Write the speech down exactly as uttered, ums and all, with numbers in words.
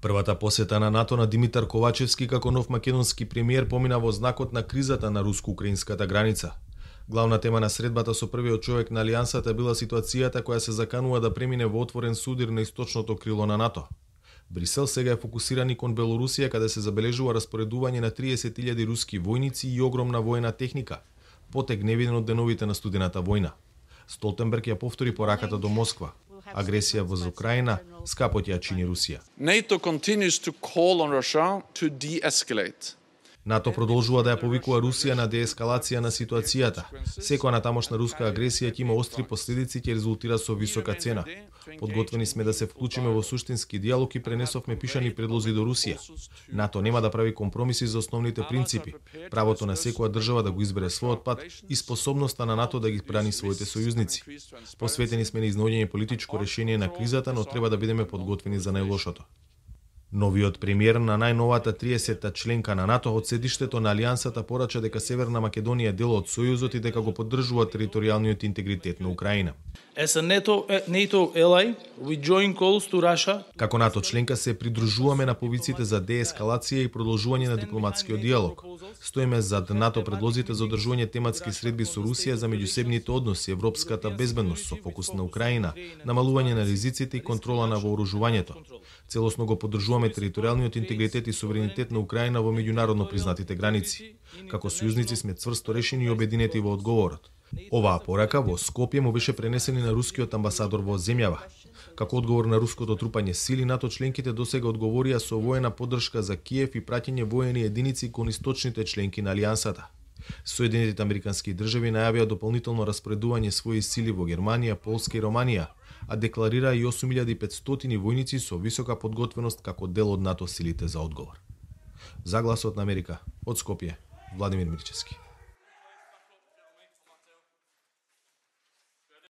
Првата посета на НАТО на Димитар Ковачевски како нов македонски премиер помина во знакот на кризата на руско-украинската граница. Главна тема на средбата со првиот човек на алијансата била ситуацијата која се заканува да премине во отворен судир на источното крило на НАТО. Брисел сега е фокусиран и кон Белорусија, каде се забележува распоредување на триесет илјади руски војници и огромна војна техника, потек невиден од деновите на студената војна. Столтенберг ја повтори пораката до Москва. Агресија во Украина скапо ќе ја чини Русија. NATO continues to call on Russia to de-escalate. НАТО продолжува да ја повикува Русија на деескалација на ситуацијата. Секоја тамошна руска агресија ќе има остри последици и ќе резултира со висока цена. Подготвени сме да се вклучиме во суштински диалог и пренесовме пишани предлози до Русија. НАТО нема да прави компромиси за основните принципи, правото на секоја држава да го избере својот пат и способноста на НАТО да ги брани своите сојузници. Посветени сме на изнаоѓање политичко решение на кризата, но треба да бидеме подготвени за најлошото. Новиот премиер на најновата триесетта членка на НАТО од седиштето на алијансата порача дека Северна Македонија е дел од Сојузот и дека го поддржува територијалниот интегритет на Украина. As a NATO, NATO ally, we join calls to Russia. Како НАТО членка се придружуваме на повиците за деескалација и продолжување на дипломатскиот диалог. Стоиме зад НАТО предлозите за одржување тематски средби со Русија за меѓусебните односи, европската безбедност со фокус на Украина, намалување на ризиците и контрола на вооружувањето. Целосно го поддржуваме територијалниот интегритет и суверенитет на Украина во меѓународно признатите граници. Како сојузници сме цврсто решени и обединети во одговорот. Оваа порака во Скопје му беше пренесена на рускиот амбасадор во земјава. Како одговор на руското трупање сили, НАТО членките досега одговорија со воена поддршка за Киев и праќање воени единици кон источните членки на алијансата. Соединетите американски држави најавија дополнително распоредување своји сили во Германија, Полска и Романија, а декларираа и осум илјади и петстотини војници со висока подготвеност како дел од НАТО силите за одговор. За Гласот на Америка, од Скопје, Владимир Мирчевски.